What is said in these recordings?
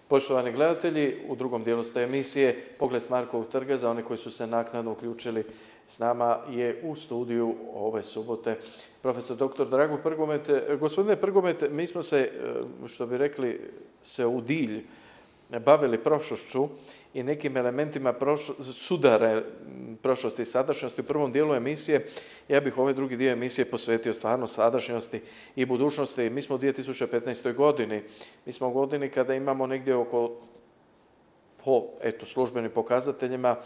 Poštovani gledatelji, u drugom dijelu ste emisije Pogled s Markovog trga. Za one koji su se naknadno uključili s nama je u studiju ove subote profesor dr. Drago Prgomet. Gospodine Prgomet, mi smo se, što bi rekli, se u dilj bavili prošlošću i nekim elementima sudare prošlosti i sadašnjosti. U prvom dijelu emisije ja bih ovaj drugi dio emisije posvetio stvarno sadašnjosti i budućnosti. Mi smo u 2015. godini. Mi smo u godini kada imamo negdje oko, po službenim pokazateljima,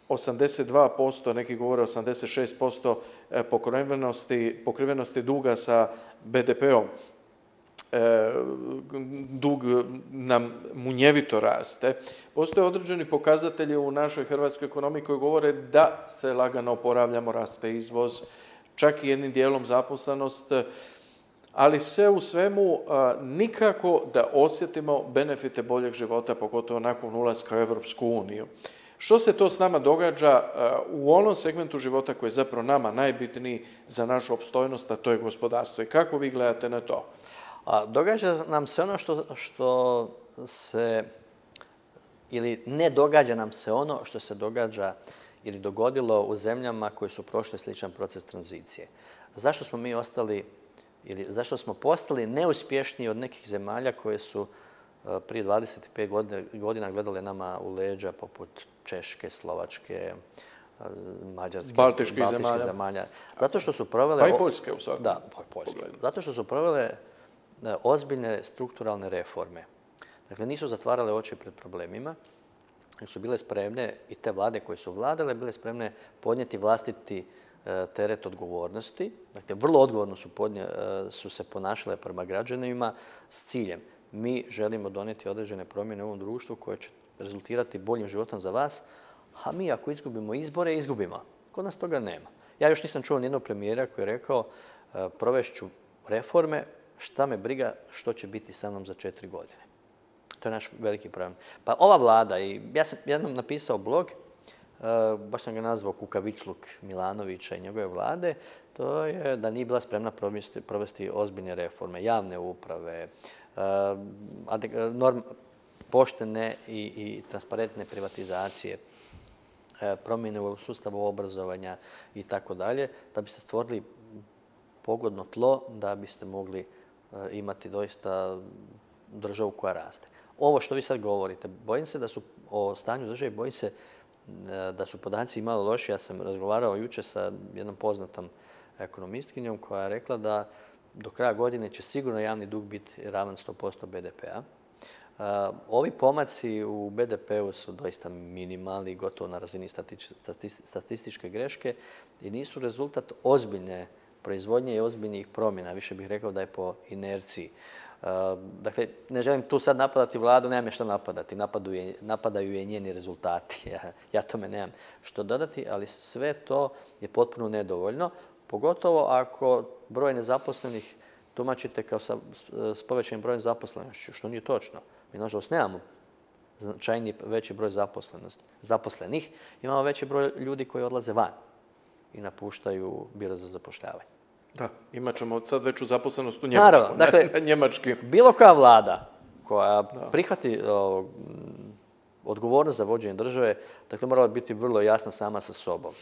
82%, neki govore 86% pokrivenosti duga sa BDP-om. Dug nam munjevito raste. Postoje određeni pokazatelji u našoj hrvatskoj ekonomiji koji govore da se lagano oporavljamo, raste izvoz, čak i jednim dijelom zaposlenost, ali sve u svemu nikako da osjetimo benefite boljeg života, pogotovo nakon ulaska u Europsku uniju. Što se to s nama događa u onom segmentu života koji je zapravo nama najbitniji za našu opstojnost, a to je gospodarstvo? I kako vi gledate na to? Događa nam se ono što se, ili ne događa nam se ono što se događa ili dogodilo u zemljama koje su prošle sličan proces tranzicije. Zašto smo mi ostali, ili zašto smo postali neuspješniji od nekih zemalja koje su prije 25 godina gledale nama u leđa, poput Češke, Slovačke, Mađarske, Baltičkih zemalja. Zato što su provele... Pa i Poljske u svakom. Da, Poljske. Zato što su provele ozbiljne strukturalne reforme. Dakle, nisu zatvarale oči pred problemima, jer su bile spremne, i te vlade koje su vladale, bile spremne podnijeti vlastiti teret odgovornosti. Dakle, vrlo odgovorno su se ponašale prema građanima s ciljem. Mi želimo donijeti određene promjene u ovom društvu koje će rezultirati boljim životom za vas, a mi ako izgubimo izbore, izgubimo. Kod nas toga nema. Ja još nisam čuo nijednog premijera koji je rekao provešću reforme, šta me briga što će biti sa mnom za 4 godine. To je naš veliki problem. Pa ova vlada, i ja sam jednom napisao blog, baš sam ga nazvao Kukavičluk Milanovića i njegove vlade, to je da nije bila spremna provesti ozbiljne reforme, javne uprave, poštene i transparentne privatizacije, promjene u sustavu obrazovanja i tako dalje, da biste stvorili pogodno tlo da biste mogli imati doista državu koja raste. Ovo što vi sad govorite, bojim se da su o stanju države, bojim se da su podaci malo loši. Ja sam razgovarao jučer sa jednom poznatom ekonomistkinjom koja je rekla da do kraja godine će sigurno javni dug biti ravan 100% BDP-a. Ovi pomaci u BDP-u su doista minimalni, gotovo na razini statističke greške i nisu rezultat ozbiljne proizvodnje i ozbiljnih promjena. Više bih rekao da je po inerciji. Dakle, ne želim tu sad napadati vladu, nemam je što napadati. Napadaju je njeni rezultati. Ja tome nemam što dodati, ali sve to je potpuno nedovoljno. Pogotovo ako broj nezaposlenih tumačite kao s povećanim brojem zaposlenošću, što nije točno. Mi, nažalost, nemamo značajni veći broj zaposlenih. Imamo veći broj ljudi koji odlaze van i napuštaju biro za zapošljavanje. Da, imat ćemo sad veću zaposlenost u Njemačku. Naravno, dakle, njemački. Bilo koja vlada koja prihvati odgovornost za vođenje države, dakle, morala biti vrlo jasna sama sa sobom.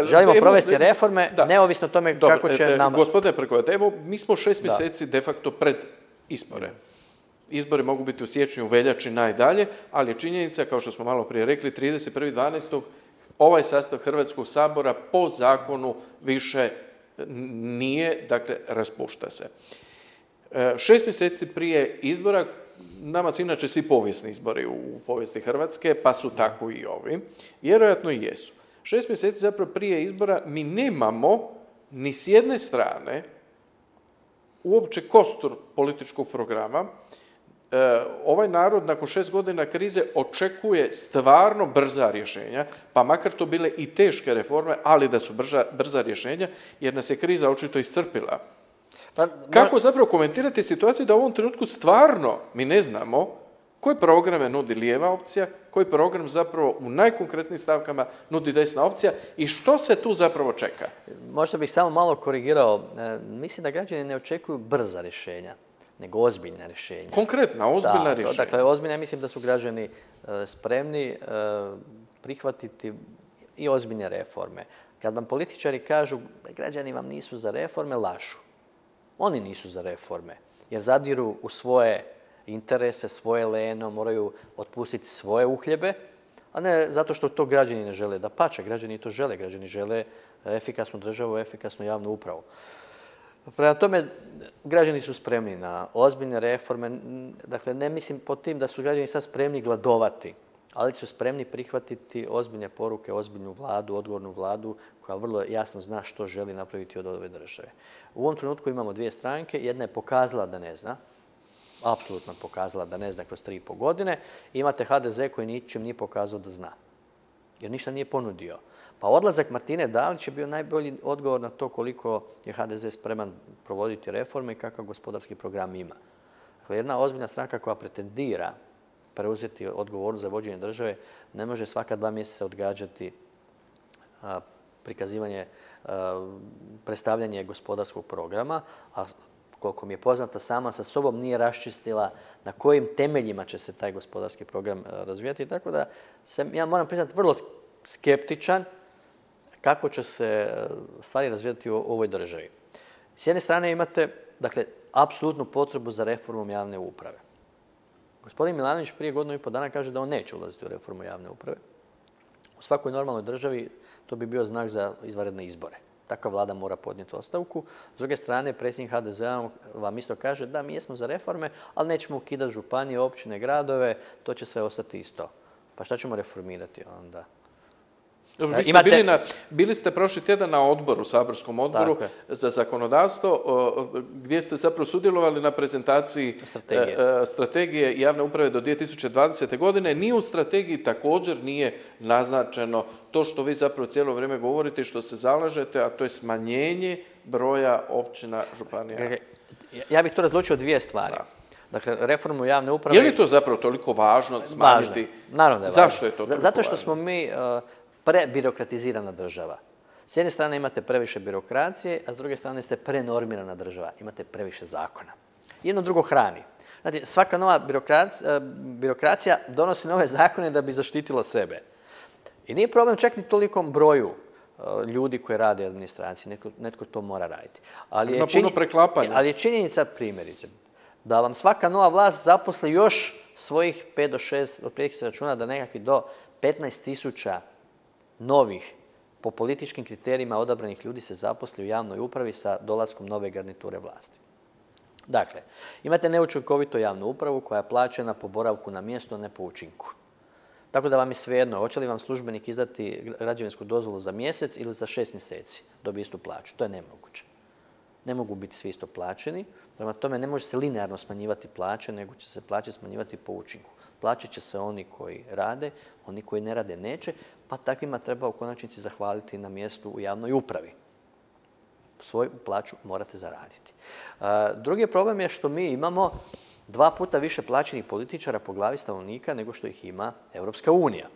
Želimo provesti reforme, neovisno o tome kako će nam... Gospodine Prgomet, evo, mi smo 6 mjeseci de facto pred izbore. Izbori mogu biti u siječnju, u veljači, najdalje, ali je činjenica, kao što smo malo prije rekli, 31.12. ovaj sastav Hrvatskog sabora po zakonu više nije, dakle, raspušta se. 6 mjeseci prije izbora, nama su inače svi povijesni izbori u povijesti Hrvatske, pa su tako i ovi. Vjerojatno i jesu. 6 mjeseci zapravo prije izbora mi nemamo ni s jedne strane uopće kostur političkog programa. Ovaj narod nakon 6 godina krize očekuje stvarno brza rješenja, pa makar to bile i teške reforme, ali da su brza rješenja, jer nas je kriza očito iscrpila. Kako zapravo komentirate situaciju da u ovom trenutku stvarno mi ne znamo koje programe nudi lijeva opcija, koji program zapravo u najkonkretnijim stavkama nudi desna opcija i što se tu zapravo čeka? Možda bih samo malo korigirao. Mislim da građani ne očekuju brza rješenja. nego ozbiljna rješenja. Konkretna, ozbiljna rješenja. Dakle, ozbiljna, mislim da su građani spremni prihvatiti i ozbiljne reforme. Kad vam političari kažu građani vam nisu za reforme, lažu. Oni nisu za reforme, jer zadiru u svoje interese, svoje leno, moraju otpustiti svoje uhljebe, a ne zato što to građani ne žele. Dapače, građani to žele. Građani žele efikasnu državu, efikasnu javnu upravu. Prema tome, građani su spremni na ozbiljne reforme. Dakle, ne mislim pod tim da su građani sad spremni gladovati, ali su spremni prihvatiti ozbiljne poruke, ozbiljnu vladu, odgovornu vladu koja vrlo jasno zna što želi napraviti od ove države. U ovom trenutku imamo dvije stranke. Jedna je pokazala da ne zna, apsolutno pokazala da ne zna kroz 3,5 godine. Imate HDZ koji ničim nije pokazao da zna, jer ništa nije ponudio. Pa odlazak Martine Dalić je bio najbolji odgovor na to koliko je HDZ spreman provoditi reforme i kakav gospodarski program ima. Dakle, jedna ozbiljna stranka koja pretendira preuzeti odgovornost za vođenje države ne može svaka 2 mjeseca odgađati prikazivanje, predstavljanje gospodarskog programa, a koliko mi je poznata, sama sa sobom nije raščistila na kojim temeljima će se taj gospodarski program razvijati. Tako da sam, ja moram priznati, vrlo skeptičan kako će se stvari razvijati u ovoj državi. S jedne strane imate, dakle, apsolutnu potrebu za reformom javne uprave. Gospodin Milanović prije 1,5 godina kaže da on neće ulaziti u reformu javne uprave. U svakoj normalnoj državi to bi bio znak za izvanredne izbore. Takva vlada mora podnijeti ostavku. S druge strane, predsjednik HDZ-a vam isto kaže da mi jesmo za reforme, ali nećemo ukidati županije, općine, gradove, to će sve ostati isto. Pa šta ćemo reformirati onda? Dobro, bili ste prošli tjedan na odboru, saborskom odboru za zakonodavstvo, gdje ste zapravo sudjelovali na prezentaciji strategije javne uprave do 2020. godine. Ni u strategiji također nije naznačeno to što vi zapravo cijelo vrijeme govorite i što se zalažete, a to je smanjenje broja općina, županija. Ja bih to razlučio 2 stvari. Dakle, reformu javne uprave... Je li to zapravo toliko važno smanjiti? Važno. Naravno da je važno. Zašto je to toliko važno? Zato što smo mi prebirokratizirana država. S jedne strane imate previše birokracije, a s druge strane ste prenormirana država. Imate previše zakona. Jedno drugo hrani. Znate, svaka nova birokracija donosi nove zakone da bi zaštitila sebe. I nije problem čak ni tolikom broju ljudi koji rade u administraciji. Netko to mora raditi. Ima puno preklapanja. Ali je činjenica, primjerice, da vam svaka nova vlast zaposli još svojih 5 do 6, otprilike se računa da nekakvi do 15.000 novih, po političkim kriterijima odabranih ljudi se zaposli u javnoj upravi sa dolaskom nove garniture vlasti. Dakle, imate neučinkovitu javnu upravu koja je plaćena po boravku na mjestu, a ne po učinku. Tako da vam je svejedno, hoće li vam službenik izdati građevinsku dozvolu za mjesec ili za 6 mjeseci, dobije istu plaću. To je nemoguće. Ne mogu biti svi isto plaćeni, prema tome ne može se linearno smanjivati plaće, nego će se plaće smanjivati po učinku. Plaćat će se oni koji rade, oni koji ne rade neće, pa takvima treba u konačnici zahvaliti na mjestu u javnoj upravi. Svoju plaću morate zaraditi. Drugi problem je što mi imamo 2 puta više plaćenih političara po glavi stanovnika nego što ih ima Europska unija.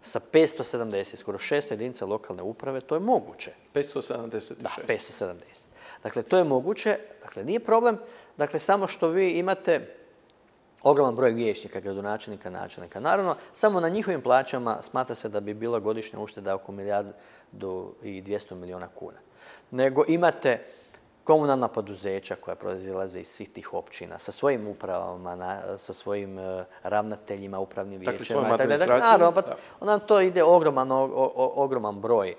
Sa 570, skoro 600 jedinica lokalne uprave, to je moguće. 576. Da, 570. Dakle, to je moguće. Dakle, nije problem. Dakle, samo što vi imate ogroman broj vijećnika, gradonačelnika, načelnika. Naravno, samo na njihovim plaćama smatra se da bi bila godišnja ušteda oko 1,2 milijarde kuna. Nego imate komunalna poduzeća koja proizilaze iz svih tih općina, sa svojim upravama, sa svojim ravnateljima, upravnim vijećima. Dakle, svojom administracijom. Naravno, onda to ide ogroman broj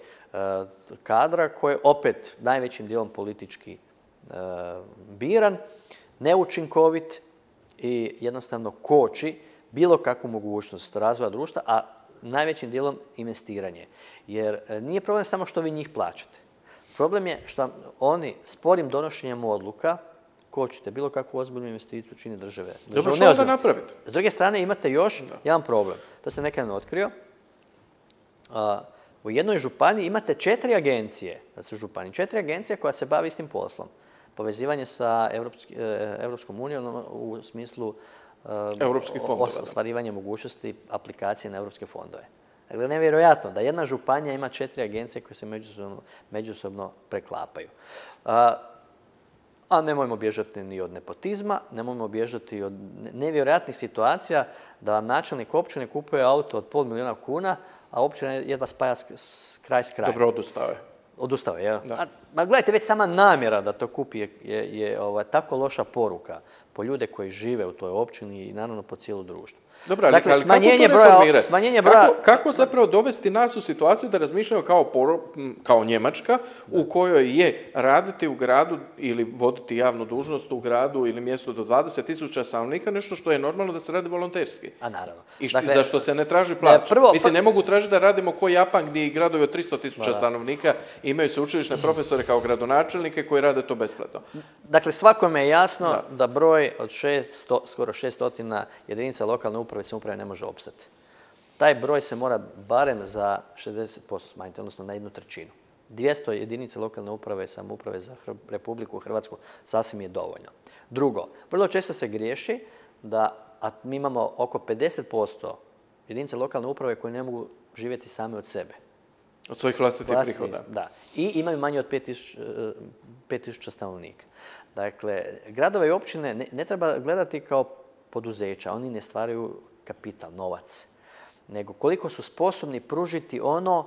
kadra koji je opet najvećim dijelom politički biran, neučinkovit i jednostavno koči bilo kakvu mogućnost razvoja društva, a najvećim dijelom investiranje. Jer nije problem samo što vi njih plaćate. Problem je što oni sporim donošenjem odluka kočite bilo kakvu ozbiljnu investiciju čini države. Dobro, što onda napraviti? S druge strane imate još jedan problem. To sam nekada otkrio. U jednoj županiji imate 4 agencije, da su županije, 4 agencije koja se bavi istim poslom. Povezivanje sa Europskom unijom u smislu ostvarivanja mogućnosti aplikacije na europske fondove. Dakle, nevjerojatno da jedna županija ima 4 agencije koje se međusobno preklapaju. a nemojmo bježati ni od nepotizma, nemojmo bježati od nevjerojatnih situacija da vam načelnik općine kupuje auto od $500.000 kuna, a općina jedva spaja kraj s krajem. Dobro, odustao je. Odustao je, jel? Ma gledajte, već sama namjera da to kupi je tako loša poruka po ljude koji žive u toj općini i naravno po cijelo društvo. Dobro, ali kako to reformirati? Kako zapravo dovesti nas u situaciju da razmišljamo kao Njemačka u kojoj je raditi u gradu ili voditi javnu dužnost u gradu ili mjestu do 20.000 stanovnika nešto što je normalno da se radi volonterski? A naravno. I za što se ne traži plaća. Mislim, ne mogu tražiti da radimo ko Japan gdje i gradovi od 300.000 stanovnika imaju sveučilišne profesore kao gradonačelnike koji rade to besplatno. Dakle, svakome je jasno da broj od skoro 600 jedinica lokalne uprave i samouprave ne može opstati. Taj broj se mora barem za 60% smanjiti, odnosno na 1/3. 200 jedinica lokalne uprave i samouprave za Republiku Hrvatsku sasvim je dovoljno. Drugo, vrlo često se griješi da mi imamo oko 50% jedinica lokalne uprave koje ne mogu živjeti same od sebe. Od svojih vlastitih prihoda. Da. I imaju manje od 5.000 stanovnika. Dakle, gradove i općine ne treba gledati kao poduzeća. Oni ne stvaraju kapital, novac. Nego koliko su sposobni pružiti ono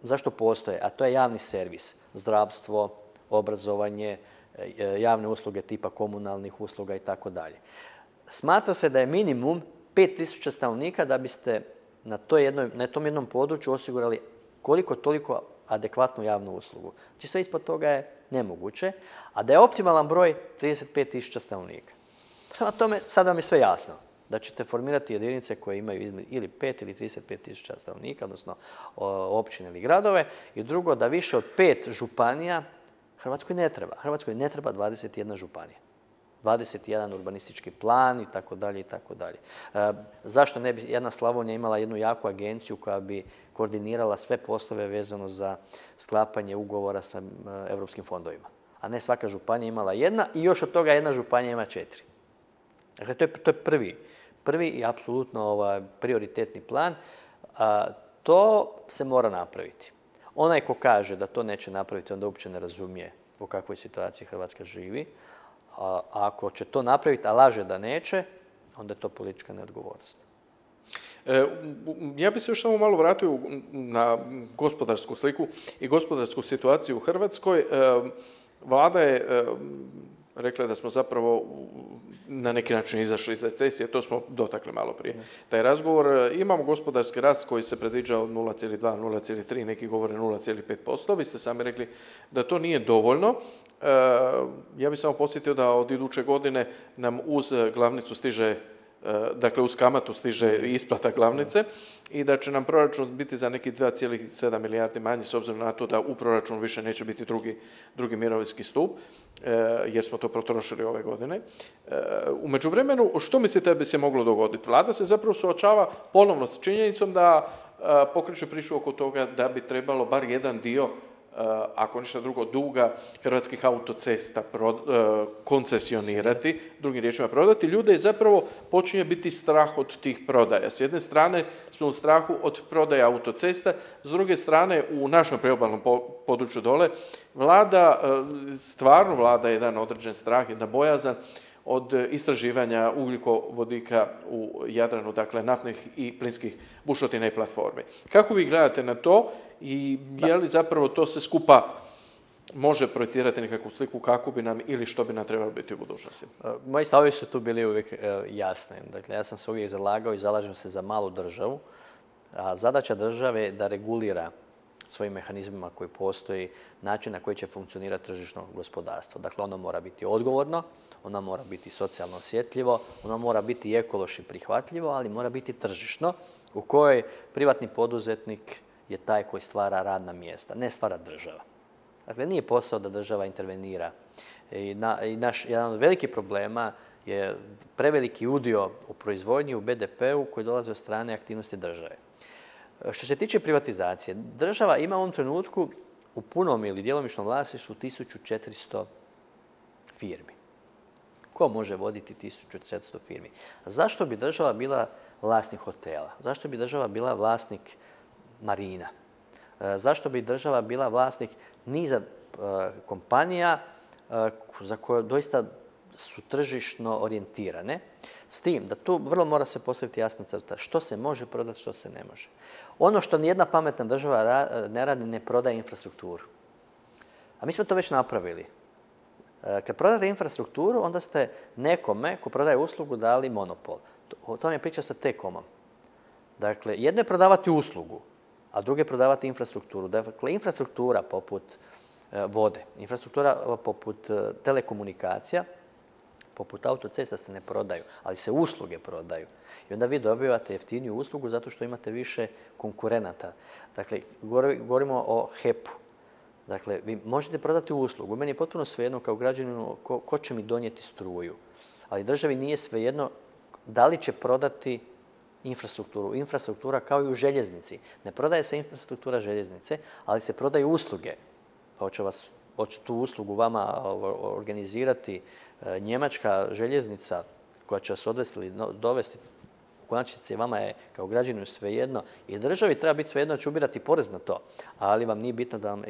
zašto postoje, a to je javni servis. Zdravstvo, obrazovanje, javne usluge tipa komunalnih usluga i tako dalje. Smatra se da je minimum 5.000 stanovnika da biste na tom jednom području osigurali koliko toliko adekvatnu javnu uslugu. Znači sve ispod toga je nemoguće, a da je optimalan broj 35.000 stanovnika. Prema tome, sad vam je sve jasno da ćete formirati jedinice koje imaju ili 5 ili 35.000 stanovnika, odnosno općine ili gradove, i drugo, da više od 5 županija Hrvatskoj ne treba. Hrvatskoj ne treba 21 županija. 21 urbanistički plan i tako dalje i tako dalje. Zašto ne bi jedna Slavonija imala jednu jaku agenciju koja bi koordinirala sve poslove vezano za sklapanje ugovora sa europskim fondovima, a ne svaka županija imala jedna i još od toga jedna županija ima 4. Dakle, to je prvi i apsolutno prioritetni plan. To se mora napraviti. Onaj ko kaže da to neće napraviti, onda uopće ne razumije u kakvoj situaciji Hrvatska živi. A ako će to napraviti, a laže da neće, onda je to politička neodgovornost. Ja bih se još samo malo vratio na gospodarsku sliku i gospodarsku situaciju u Hrvatskoj. Vlada je rekla da smo zapravo na neki način izašli iz recesije, to smo dotakli malo prije. Taj razgovor, imamo gospodarski rast koji se predviđa od 0,2, 0,3, neki govore 0,5%. Vi ste sami rekli da to nije dovoljno. Ja bih samo posjetio da od iduće godine nam uz glavnicu stiže, dakle uz kamatu stiže isplata glavnice i da će nam proračun biti za neki 2,7 milijardi manji s obzirom na to da u proračunu više neće biti drugi mirovinski stup jer smo to potrošili ove godine. U međuvremenu, što mislite da bi se moglo dogoditi? Vlada se zapravo suočava ponovno s činjenicom da pokreće priču oko toga da bi trebalo bar jedan dio, ako ništa drugo, duga Hrvatskih autocesta koncesionirati, drugim riječima prodati. Ljude je zapravo počinje biti strah od tih prodaja. S jedne strane smo u strahu od prodaja autocesta, s druge strane u našem priobalnom području dole stvarno vlada jedan određen strah, jedna bojazan od istraživanja ugljikovodika u Jadranu, dakle naftnih i plinskih bušotina i platformi. Kako vi gledate na to i je li zapravo to se skupa može projecirati nekakvu sliku kako bi nam ili što bi nam trebalo biti u budućnosti? Moji stavovi su tu bili uvijek jasni. Dakle, ja sam se uvijek zalagao i zalažem se za malu državu. A zadaća države je da regulira svojim mehanizmima koji postoji način na koji će funkcionirati tržišno gospodarstvo. Dakle, ono mora biti odgovorno, ono mora biti socijalno osjetljivo, ono mora biti ekološki prihvatljivo, ali mora biti tržišno u kojoj privatni poduzetnik je taj koji stvara radna mjesta, ne stvara država. Dakle, nije posao da država intervenira. Jedan od velikih problema je preveliki udio u proizvodnji, u BDP-u koji dolazi od strane aktivnosti države. Što se tiče privatizacije, država ima u ovom trenutku u punom ili djelomičnom vlasništvu 1400 firmi. Ko može voditi 1400 firmi? Zašto bi država bila vlasnik hotela? Zašto bi država bila vlasnik marina? Zašto bi država bila vlasnik niza kompanija za koje doista su tržišno orijentirane, s tim da tu vrlo mora se postaviti jasna crta što se može prodati, što se ne može. Ono što nijedna pametna država ne radi, ne prodaje infrastrukturu. A mi smo to već napravili. Kad prodate infrastrukturu, onda ste nekome ko prodaje uslugu dali monopol. To je priča sa T-Comom. Dakle, jedno je prodavati uslugu, a drugo je prodavati infrastrukturu. Dakle, infrastruktura poput vode, infrastruktura poput telekomunikacija, poput autocesta se ne prodaju, ali se usluge prodaju. I onda vi dobivate jeftiniju uslugu zato što imate više konkurenata. Dakle, govorimo o HEP-u. Dakle, vi možete prodati uslugu. Meni je potpuno svejedno kao građaninu ko će mi donijeti struju. Ali državi nije svejedno da li će prodati infrastrukturu. Infrastruktura kao i u željeznici. Ne prodaje se infrastruktura željeznice, ali se prodaju usluge. Pa hoće tu uslugu vama organizirati njemačka željeznica koja će vas odvesti ili dovesti. U konačnici vama je kao građaninu svejedno i državi treba biti svejedno da će ubirati porez na to, ali vam nije bitno da vam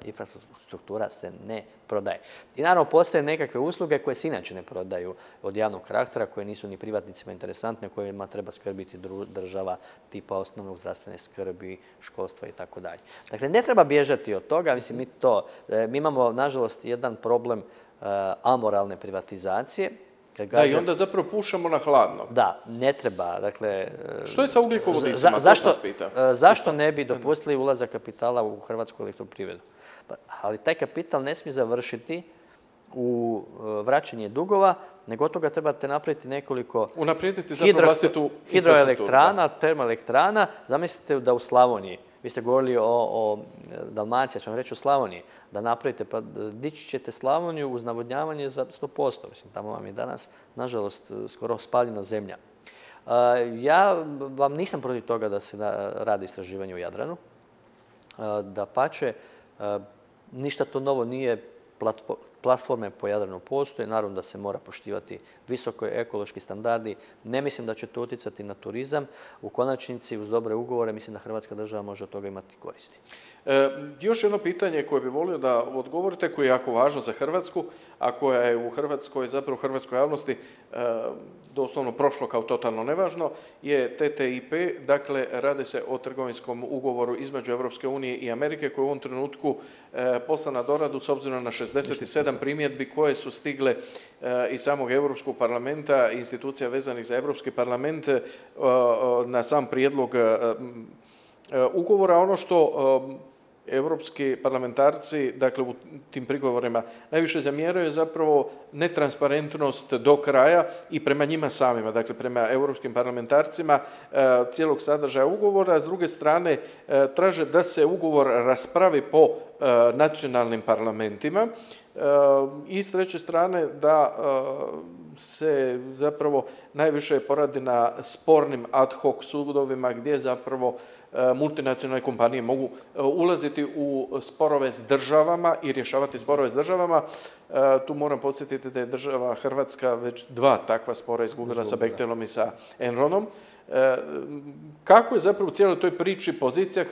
infrastruktura se ne prodaje. I naravno postoje nekakve usluge koje se inače ne prodaju od javnog karaktera, koje nisu ni privatnicima interesantne, kojima treba skrbiti država, tipa osnovnog zdravstvene skrbi, školstva i tako dalje. Dakle, ne treba bježati od toga, mislim, mi imamo, nažalost, jedan problem amoralne privatizacije. Da, i onda zapravo pušamo na hladno. Da, ne treba. Dakle, što je sa ugljikovodicima? Zašto ne bi dopustili ulazak kapitala u Hrvatsku elektroprivredu? Ali taj kapital ne smije završiti u vraćanje dugova, nego od toga trebate napraviti nekoliko hidroelektrana, termoelektrana. Zamislite da u Slavoniji, vi ste govorili o Dalmaciji, ću vam reći o Slavoniji, da napravite, pa dići ćete Slavoniju uz navodnjavanje za 100%. Mislim, tamo vam je danas, nažalost, skoro spaljena zemlja. Ja vam nisam protiv toga da se radi istraživanje u Jadranu. Dapače, ništa to novo nije, platforme po Jadranu postoje, naravno da se mora poštivati visoko ekološki standardi. Ne mislim da će to utjecati na turizam. U konačnici, uz dobre ugovore, mislim da Hrvatska država može od toga imati koristi. Još jedno pitanje koje bih volio da odgovorite, koje je jako važno za Hrvatsku, a koja je u Hrvatskoj, zapravo u hrvatskoj javnosti, doslovno prošlo kao totalno nevažno, je TTIP. Dakle, radi se o trgovinskom ugovoru između Europske unije i Amerike, koji je u ovom trenutku poslan na doradu s obzirom na 67 primjedbi koje su stigle iz samog Europskog parlamenta i institucija vezanih za Europski parlament na sam prijedlog ugovora. Ono što europski parlamentarci, dakle u tim prigovorima najviše zamjeraju zapravo netransparentnost do kraja i prema njima samima, dakle prema europskim parlamentarcima cijelog sadržaja ugovora. S druge strane, traže da se ugovor raspravi po nacionalnim parlamentima i s treće strane da se zapravo najviše poradi na spornim ad hoc sudovima gdje zapravo multinacionalne kompanije mogu ulaziti u sporove s državama i rješavati sporove s državama. Tu moram podsjetiti da je država Hrvatska već 2 takva spora izgubila sa Bechtelom i sa Enronom. Kako je zapravo u cijeloj toj priči pozicija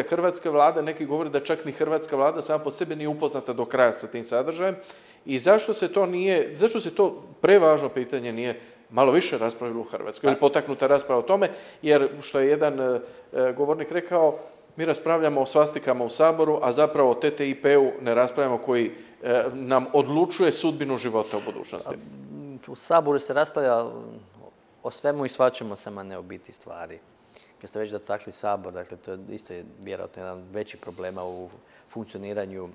hrvatske vlade? Neki govore da čak ni hrvatska vlada sama po sebi nije upoznata do kraja sa tim sadržajem. I zašto se to prevažno pitanje nije malo više raspravilo u Hrvatskoj ili potaknuta rasprava o tome, jer što je jedan govornik rekao, mi raspravljamo o svastikama u Saboru, a zapravo o TTIP-u ne raspravljamo, koji nam odlučuje sudbinu života u budućnosti. U Saboru se raspravlja o svemu i svačemu, samo ne o biti stvari. Kad ste već dotakli Sabor, dakle, to je isto vjerojatno jedan veći problema u funkcioniranju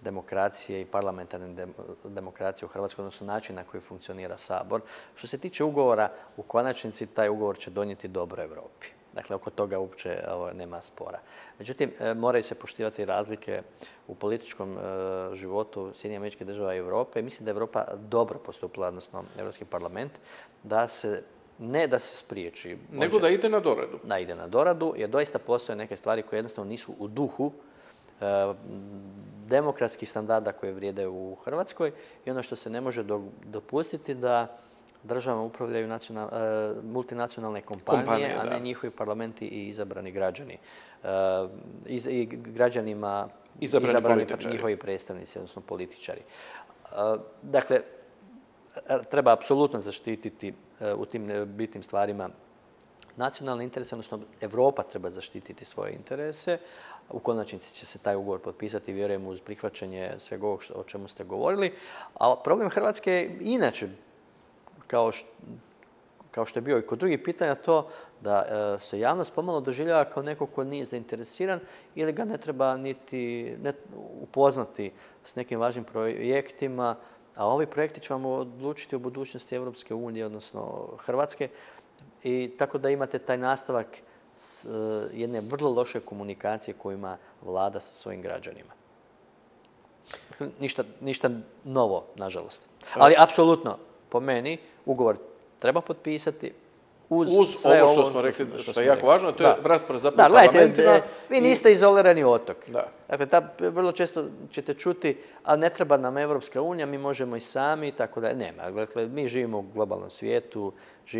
demokracije i parlamentarne demokracije u Hrvatskoj, odnosno način na koji funkcionira Sabor. Što se tiče ugovora, u konačnici taj ugovor će donijeti dobro Europi. Dakle, oko toga uopće nema spora. Međutim, moraju se poštivati razlike u političkom životu Sjedinjenih Američkih Država i Europe. Mislim da je Europa dobro postupila, odnosno Europski parlament, ne da se spriječi. Nego da ide na doradu. Da ide na doradu, jer doista postoje neke stvari koje jednostavno nisu u duhu demokratskih standarda koje vrijede u Hrvatskoj i ono što se ne može dopustiti da državama upravljaju multinacionalne kompanije, a ne njihovi parlamenti i izabrani građani. I građanima izabrani njihovi predstavnici, odnosno političari. Dakle, treba apsolutno zaštititi u tim bitnim stvarima nacionalne interese, odnosno Evropa treba zaštititi svoje interese. U konačnici će se taj ugovor potpisati, vjerujem, uz prihvaćanje svega ovog o čemu ste govorili. A problem Hrvatske je inače, kao što je bio i kod drugih pitanja, to da se javnost pomalo doživljava kao neko ko nije zainteresiran ili ga ne treba niti upoznati s nekim važnim projektima, a ovi projekti će vam odlučiti o budućnosti Europske unije, odnosno Hrvatske, i tako da imate taj nastavak jedne vrlo loše komunikacije koju ima vlada sa svojim građanima. Ništa novo, nažalost. Ali apsolutno, po meni, ugovor treba potpisati uz sve ovo što smo rekli, što je jako važno, to je rasprava zapravo parlamentima. Vi niste izolirani otok. Dakle, vrlo često ćete čuti, a ne treba nam Evropska unija, mi možemo i sami, i tako da nema. Dakle, mi živimo u globalnom svijetu,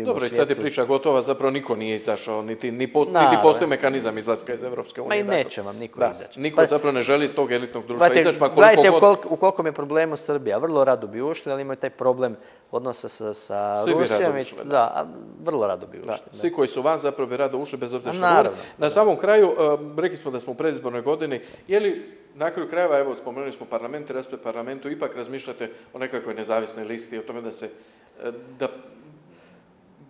Dobro, i sad je priča gotova, zapravo niko nije izašao, niti postoji mehanizam izlaska iz Evropske unije. Ma i neće vam niko izaći. Niko zapravo ne želi iz tog elitnog društva izaći, ma gledajte u kolikom je problemu Srbija. Vrlo rado bi ušli, ali imaju taj problem odnosa sa Rusijom. Da, vrlo rado bi ušli. Svi koji su van zapravo bi rado ušli, bez obzira što govorim. Na samom kraju, rekli smo da smo u predizbornoj godini, je li na kraju krajeva, evo, spomenuli smo parlament i raspred parlamentu, ipak razmišljate o nekakvoj nezavisnoj listi, o tome da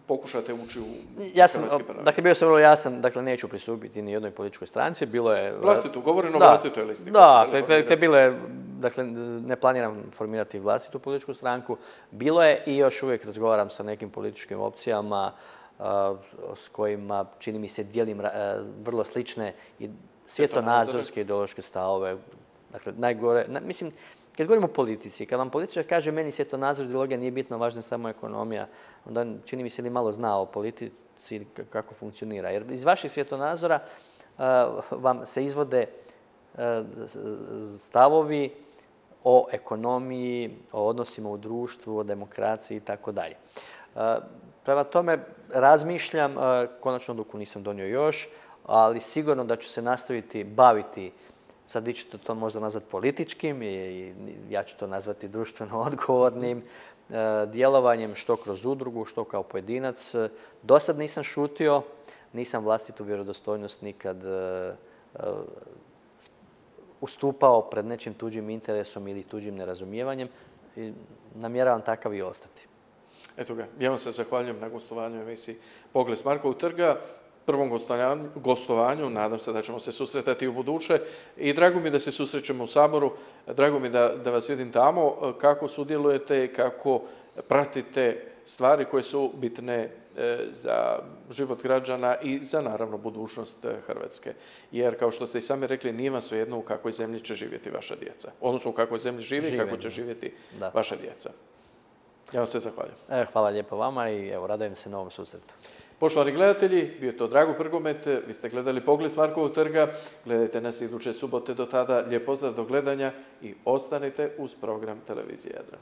pokušate ući u hrvatski parlament? Dakle, bio sam vrlo jasan, dakle, neću pristupiti ni jednoj političkoj stranci, bilo je... Vlastitu, govorim o vlastitoj listi. Da, bilo je, dakle, ne planiram formirati vlastitu političku stranku, bilo je i još uvijek razgovaram sa nekim političkim opcijama s kojima, čini mi se, dijelim vrlo slične i svjetonazorske ideološke stavove. Dakle, najgore, mislim, kad govorimo o politici, kad vam političar kaže meni svjetonazor, ideologija nije bitno, važna je samo ekonomija, onda čini mi se li malo zna o politici kako funkcionira. Jer iz vaših svjetonazora vam se izvode stavovi o ekonomiji, o odnosima u društvu, o demokraciji i tako dalje. Prema tome, razmišljam, konačnu odluku nisam donio još, ali sigurno da ću se nastaviti baviti, sad vi ćete to možda nazvati političkim i ja ću to nazvati društveno odgovornim djelovanjem, što kroz udrugu, što kao pojedinac. Do sad nisam šutio, nisam vlastitu vjerodostojnost nikad ustupao pred nečim tuđim interesom ili tuđim nerazumijevanjem i namjeravam takav i ostati. Eto ga, ja vam se zahvaljujem na gostovanju u emisiji Pogled s Markovog trga, prvom gostovanju, nadam se da ćemo se susretati u buduće i drago mi da se susrećemo u Saboru, drago mi da vas vidim tamo, kako sudjelujete, kako pratite stvari koje su bitne za život građana i za, naravno, budućnost Hrvatske. Jer, kao što ste i sami rekli, nije vam svejedno u kakvoj zemlji će živjeti vaša djeca. Odnosno, u kakvoj zemlji živi i kako će živjeti vaša djeca. Ja vam se zahvaljujem. Hvala lijepo vama i evo, radujem se novom susretu. Poštovani gledatelji, bio je to Drago Prgomet, vi ste gledali Pogled s Markovog trga, gledajte nas iduće subote, do tada lijep pozdrav, do gledanja i ostanite uz program Televizije Jadran.